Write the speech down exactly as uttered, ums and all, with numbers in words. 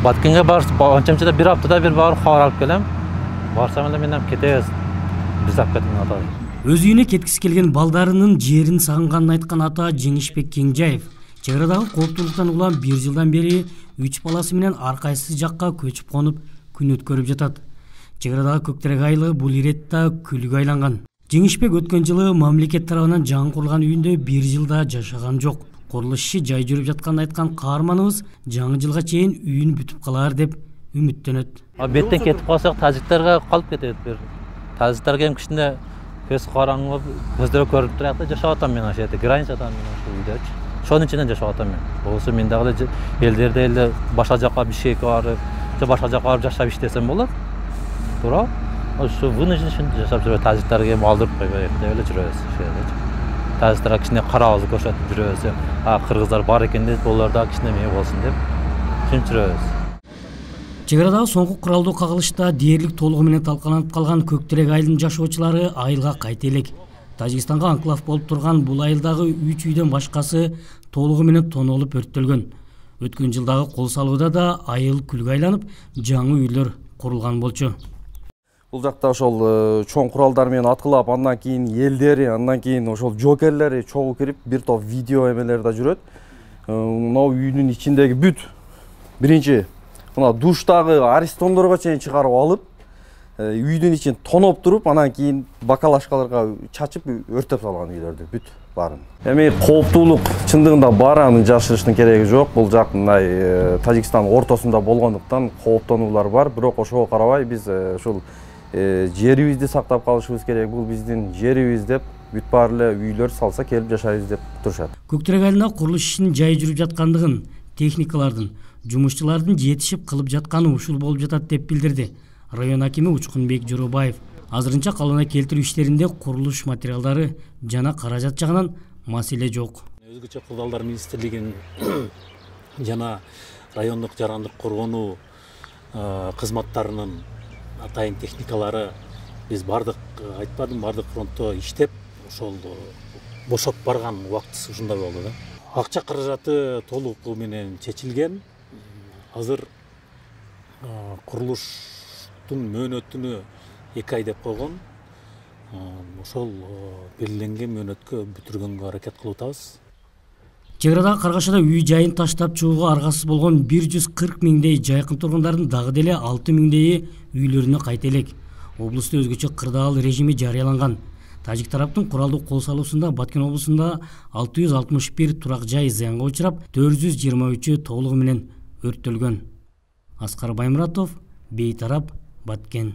Баткенге барып, анчамчыда бир аптада бир барып кабар алып келем. Барсам эле мен кетебиз. Биз алып кеткен ата. Өз үйүнө кеткиси келген балдарынын жерин сагынганын айткан ата Жеңишбек Кеңжаев чек арадагы кооптуулуктан улам бир жылдан бери үч баласы менен ар кайсы жакка көчүп конуп күн өткөрүп жатат. Чек арадагы Көктерек айылы бул иретте күлгө айланган. Жеңишбек өткөн жылы мамлекет тарабынан жаңы курулган үйүндө бир жылда жашаган жок. Курулуш иши жай жүрүп жатканын айткан каарманыбыз жаңы жылга чейин үйүн бүтүп калар деп үмүттөнөт. Беттен кетип калсак тажиктерге калып кетет бир. Тажиктерге эми кичине көз караңгы, көздөрү көрүп турат да жашап атам мен ошол жерде, границадан мен ошол үйдөчү. Ошонун ичинен жашап атам мен. Болсо мен дагы элдерде эле башка жакка Бишкекке барып, же башка жакка барып жашап иштесем болот. Туура? Ошо вынужден жашап жүрөт, тажиктерге алдырып койбойт деп эле жүрөбүз ошол жерде. Тажиктарга кичине карабызды көрсөтүп жүрөбүз. А кыргыздар бар экен деп, булар да кичине мээ болсун деп ушинтип жүрөбүз. Чек арадагы соңку куралдуу кагылышта дээрлик толугу менен талкаланып калган Көктерек айылынын жашоочулары айылга кайта элек. Тажикстанга анклав болуп турган бул айылдагы үч үйдөн башкасы толугу менен тонолуп өрттөлгөн. Өткөн жылдагы кол салууда да айыл күлгө айланып, жаңы үйлөр курулган болчу. Бул жакта ошол чоң куралдар менен аткылап, андан кийин элдери, андан кийин ошол жокерлери чогуу кирип, бир топ видео эмелер да жүрөт. Мына үйдүн ичиндеги бүт биринчи мына душтагы арестондорго чейин чыгарып алып, үйдүн ичин тоноп туруп, анан кийин бакалашкаларга чачып өртөп салган үйлөрдү бүт баарын. Эми кооптуулук чындыгында бар, аны жашырыштын кереги жок. Бул жак мындай Тажикстан ортосунда болгондуктан кооптонуулар бар, бирок ошого карабай биз ушул жерибизди сактап калышыбыз керек. Бул биздин жерибиз деп бүт баары эле үйлөр салса келип жашайбыз деп турушат. Көктерек айылында курулуш ишинин жай жүрүп жаткандыгын, техникалардын, жумушчулардын жетишип кылып жатканы ушул болуп жатат деп билдирди район акими Учкунбек Жоробаев. Азырынча калыбына келтирүү иштеринде курулуш материалдары жана каражат жагынан маселе жок. Өзгөчө кырдаалдар министрлигинин жана райондук жарандык коргонуу кызматтарынын атайын техникалары биз бардык айтпадым, бардык фронтто иштеп, ошол бошоп барган убактысы ушундай болду да. Акча каражаты толук менен чечилген. Азыр курулуштун мөөнөтүнө эки ай деп койгон. Ошол белгиленген мөөнөткө бүтүргөнгө аракет кылып атабыз. Чек арадагы Каргашада үй жайын таштап чыгууга аргасыз болгон бир жүз кырк миңдей жайкын тургундардын дагы деле алты миңдейи үйлөрүнө кайта элек. Облусту өзгөчө кырдаал режими жарыяланган. Тажик тараптын куралдуу кол салуусунда Баткен облусунда алты жүз алтымыш бир турак жай зыянга учурап, төрт жүз жыйырма үчү толугу менен өрттөлгөн. Аскар Баймуратов, Бейтарап, Баткен.